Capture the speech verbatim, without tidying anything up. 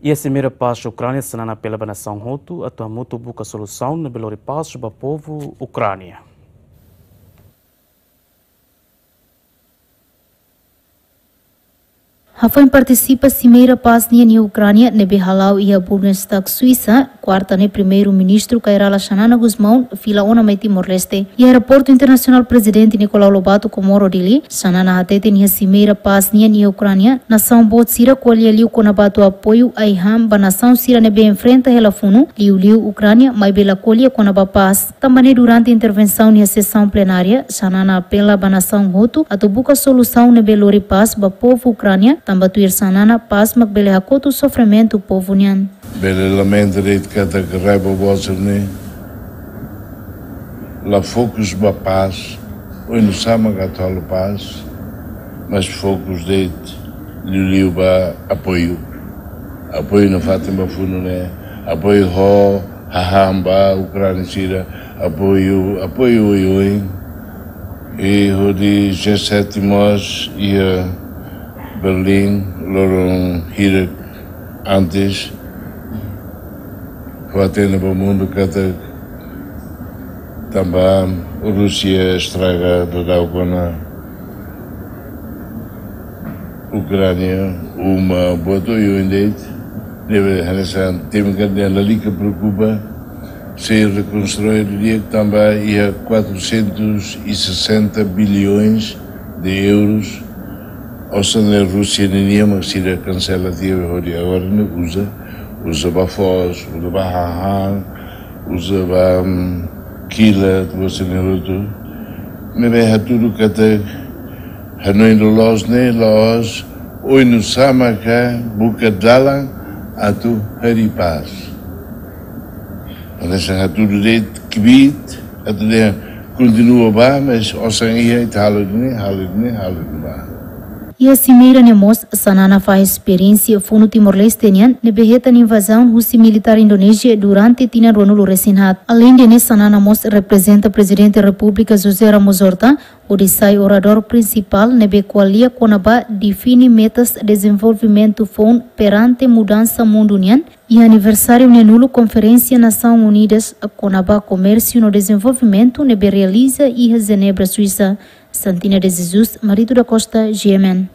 Iha simeira pás Ukránia, Xanana apela ba nasaun hotu atu hamutuk buka solusaun ne'ebé lori pás ba povu Ukránia. Hafoin partisipa simeira pás nian iha Ukránia ne'ebé hala'o iha Bundestag Suisa, kuarta ne'e Primeiru-Ministru Kay Rala Xanana Gusmão fila ona mai Timor-Leste. Iha Aeroportu Internasionál Prezidente Nicolau Lobato, Comoro, Dili, Xanana hateten iha simeira pás nian iha Ukránia, nasaun boot sira ko'alia liu kona-ba atu apoiu ai-han ba nasaun sira ne'ebé enfrenta hela funu, liuliu Ukránia, maibé la ko'alia kona-ba pás. Tanba ne'e durante intervensaun iha sesaun plenária, Xanana apela ba nasaun hotu atu buka solusaun ne'ebé lori pás ba povu Ukránia, tanba tuir Xanana pás mak bele hakotu sofrimentu povu nian. Bele lamenta de'it katak rai boboot sira-ne'e la fokus ba pás, oinsá mak atu halo pás, mas fokus de'it liuliu ba apoiu. Apoiu nafatin ba funu ne'e, apoiu ho hahán ba Ukránia sira, apoiu, apoiu oioin. I hodi G sete mós iha Berlim, loron hirak antes, fó-hatene ba mundu katak tanba Rúsia estraga daudaun ona Ukránia, uma boot oioin de'it, ne'ebé hanesan temi katak lalika preokupa, sei rekonstrui di'ak tanba iha quatrocentos e sessenta bilhões de euros, osan ne'e Rúsia ninian mak sira kansela tiha hodi agora ne'e uza, uza ba foos, uza ba hahán, uza ba, mm, kilat, uza ne'e hotu. Ne'ebé hatudu katak hanoin loloos ne'e la'ós oinsá maka buka dalan atu harii pás. Hanesan hatudu de'it kbiit, atu dehan kontinua ba, mas osan iha ita halo ne'e, halo ne'e, halo ne'e ba. Iha simeira ne'e mós, Xanana fahe esperiénsia funu Timor-Leste nian ne'ebé hetan invazaun husi militár Indonézia durante tinan ruanulu resin haat. Aleinde ne'e, Xanana mós reprezenta Prezidente Repúblika José Ramos Horta, hodi sai oradór prinsipál ne'ebé ko'alia kona-ba define metas dezenvolvimentu foun perante mudansa mundu nian, iha aniversáriu neenulu Konferénsia Nasaun Unidas kona-ba Komérsiu no Dezenvolvimentu ne'ebé realiza iha Jenebra, Suisa. Santina de Jesus, Marito da Costa, G M N.